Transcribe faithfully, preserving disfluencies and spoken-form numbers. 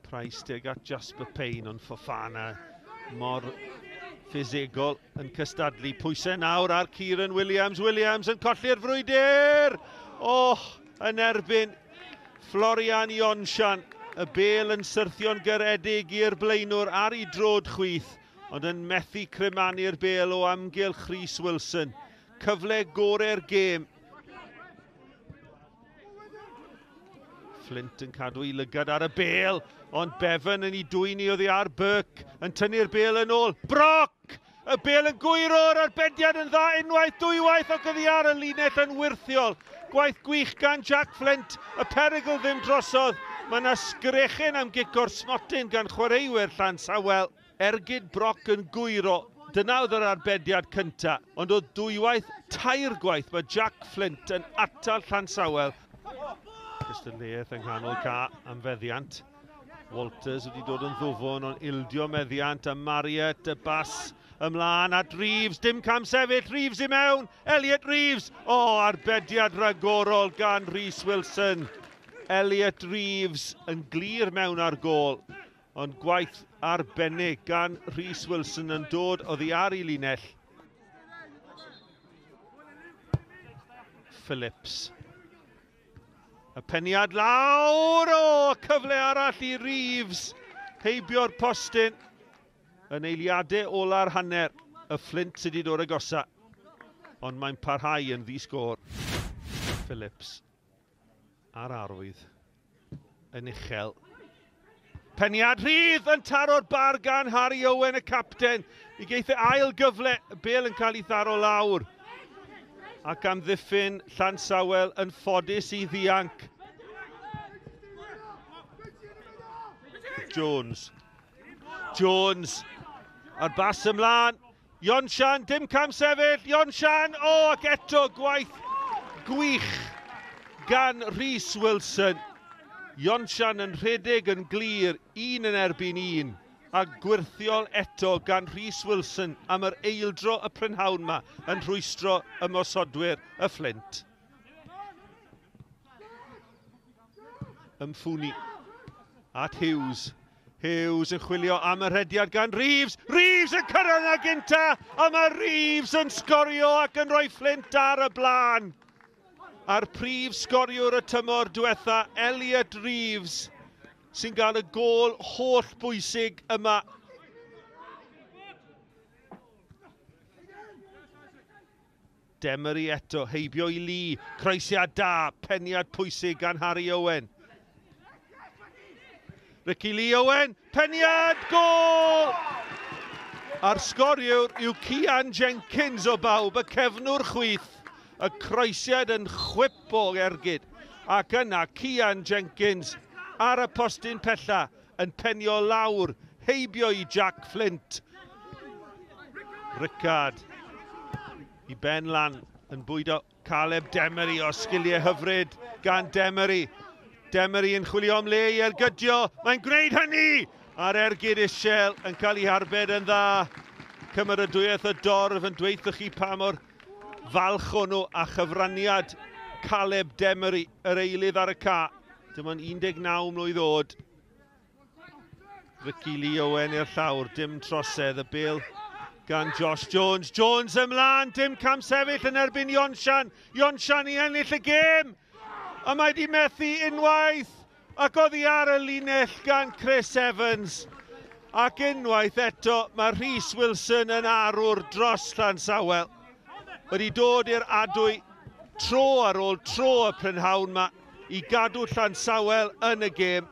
Price tuag at Jasper Payne, ond Fofana mor ffisegol yn cystadlu. Pwysau nawr ar Kieran Williams. Williams yn colli'r frwydr! Oh, yn erbyn Florian Ionsian. Y bel yn syrthio'n garedig i'r blaenwr ar ei drod chwith, ond yn methu crymanu'r bel o amgylch Rhys Wilson. Cyfle gorau'r gêm. Flint yn cadw ei lygad ar y bel, ond Bevan yn ei dwyn i oddi ar. Burke yn tynnu'r bel yn ôl. Brock! Y bel yn gwyro'r arbediad yn dda unwaith, dwywaith, ac oddi ar y linell yn wyrthiol. Gwaith gwych gan Jack Flint, y perygl ddim drosodd. Mae yna sgrechen am gic o'r smotyn gan chwaraewyr Llansawel. Ergyd Brock yn gwyro. Dyna oedd yr arbediad cyntaf, ond oedd dwywaith, tair gwaith mae Jack Flint yn atal Llansawel. Cystadleuaeth yng nghanol ca am feddiant. Walters wedi dod yn ddwfwn, ond ildio meddiant a Marriott, y bas ymlaen at Reeves, dim cam sefyll, Reeves i mewn, Elliot Reeves! O, oh, arbediad ragorol gan Rhys Wilson. Elliot Reeves yn glir mewn ar gôl, ond gwaith arbennig gan Rhys Wilson yn dod oddi ar ei linell. Phillips. Y peniad lawr, o, cyfle arall i Reeves. Heibio'r postyn yn eiliadau ola'r hanner. Y Flint sydd wedi dod agosa, ond mae'n parhau yn ddi-sgôr. Phillips a'r arwydd yn uchel. Peniad rhydd yn taro'r bar gan Harry Owen, y capten. I geith e ail gyfle, y bel yn cael ei tharo lawr. Ac amddiffyn Llansawel yn ffodus i ddianc. Jones. Jones. A'r bas ymlaen. Ionsian, dim cam sefyll. Ionsian, o, oh, ac eto gwaith gwych gan Rhys Wilson. Ionsian yn rhedeg yn glir, un yn erbyn un, a gwirthiol eto gan Rhys Wilson am yr eildro y prynhawn yma yn rhwystro ymosodwyr y Flint. Ymffwni at Hughes. Hughes yn chwilio am y rhediad gan Reeves. Reeves yn cyrraedd na gynta, a mae Reeves yn sgorio ac yn rhoi Flint ar y blaen. A'r prif sgoriwr y tymor diwetha, Elliot Reeves, sy'n gael y gôl holl bwysig yma. Demery eto, heibio i Lee, croesiad da, peniad pwysig gan Harry Owen. Ricky Lee Owen, peniad, gôl! A'r sgoriwr yw Cian Jenkins o bawb, y cefnwr chwith. Y croesiad yn chwip o ergyd. Ac yna Cian Jenkins ar y postyn pella yn penio lawr, heibio i Jack Flint. Rickard i ben lan yn bwydo Caleb Demery o sgiliau hyfryd gan Demery. Demery yn chwilio am le i ergydio. Mae'n gwneud hynny! A'r ergyd isiel yn cael ei harbed yn dda. Cymeradwyaeth y dorf yn dweud chi pa mor falch o'n nhw a chyfraniad Caleb Demery, yr eilydd ar y ca. Dim ond un deg naw mlwydd oed. Ricky Lee Owen i'r llawr, dim trosedd, y bel gan Josh Jones. Jones ymlaen, dim cam sefyll yn erbyn Ionsian. Ionsian i ennill y gêm! A mae di methu unwaith, ac oddi ar y linell gan Chris Evans. Ac unwaith eto, mae Rhys Wilson yn arwr dros Llansawel. Wedi dod i'r adwy tro ar ôl tro y prynhawn yma i gadw Llansawel yn y gêm.